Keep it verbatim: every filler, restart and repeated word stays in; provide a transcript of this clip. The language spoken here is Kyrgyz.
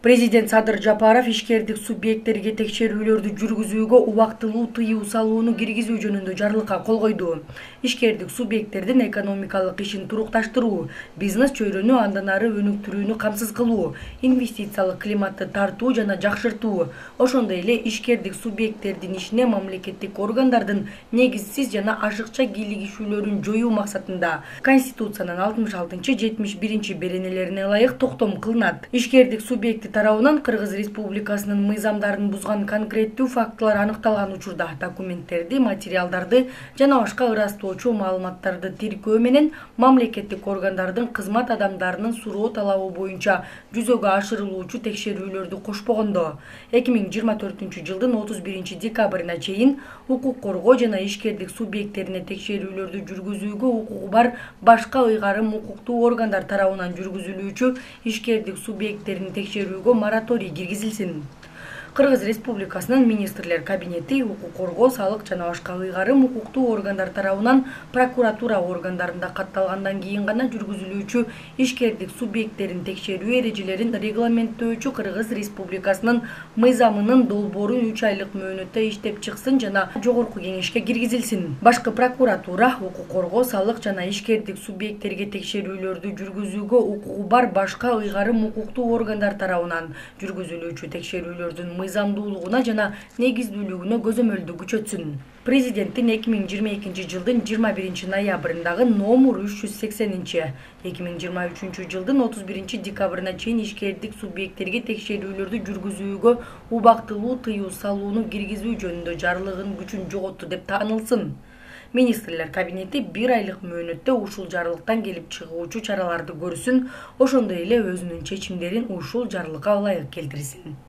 Президент Садыр Жапаров ишкердик субъекттерге текшерүүлөрдү жүргүзүүгө убактылуу тыюу салууну киргизүү жөнүндө жарлыкка кол койду. Ишкердик субъекттердин экономикалык ишин турукташтыруу, бизнес чөйрөнү андан ары өнүктүрүүнү камсыз кылуу, инвестициялык климатты тартуу жана жакшыртуу, ошондой эле ишкердик субъекттердин ишине мамлекеттик органдардын негизсиз жана ашыкча кийлигишүүлөрүн жоюу максатында Конституциянын алтымыш алтынчы — жетимиш биринчи беренелерине ылайык токтом кылынат. Ишкердик субъекти тарабынан Кыргыз Республикасынын мыйзамдарын бузган конкреттүү фактылар аныкталган учурда документтерди, материалдарды жана башка ырастоочу маалыматтарды тиркөө менен мамлекеттик органдардын кызмат адамдарынын суроо талабы боюнча жүзөгө ашырылуучу текшерүүлөрдү кошпогондо эки миң жыйырма төртүнчү жылдын отуз биринчи декабрына чейин укук коргоо жана ишкердик субъекттерине текшерүүлөрдү жүргүзүүгө укугу бар башка ыйгарым укуктуу органдар тарабынан жүргүзүлүүчү ишкердик субъекттерин текшерүүгө мораторий киргизилсин. Кыргыз Республикасынын министрлер кабинети укук коргоо, салык жана башка ыйгарым укуктуу органдар тарабынан прокуратура органдарында катталгандан кийин гана жүргүзүлүүчү ишкердик субъекттерин текшерүү эрежелерин регламенттөөчү Кыргыз Республикасынын мыйзамынын долбоорун үч айлык мөөнөттө иштеп чыксын жана жогорку кеңешке киргизилсин. Башкы прокуратура укук коргоо, салык жана ишкердик субъекттерге текшерүүлөрдү жүргүзүүгө укугу бар башка ыйгарым укуктуу органдар тарабынан жүргүзүлүүчү текшерүүлөрдүн мыйзамдуулугуна жана негиздүүлүгүнө көзөмөлдү күчөтсүн. Президенттин эки миң жыйырма экинчи жылдын жыйырма биринчи ноябрындагы номер үч жүз сексенинчи эки миң жыйырма үчүнчү жылдын отуз биринчи декабрына чейин ишкердик субъекттерге текшерүүлөрдү жүргүзүүгө убактылуу тыюу салууну киргизүү жөнүндө жарлыгынын күчүн жоготту деп таанылсын. Министрлер кабинети бир айлык мөөнөттө ушул жарлыктан келип чыгуучу чараларды көрсүн, ошондой эле өзүнүн чечимдерин ушул жарлыкка ылайык келтирсин.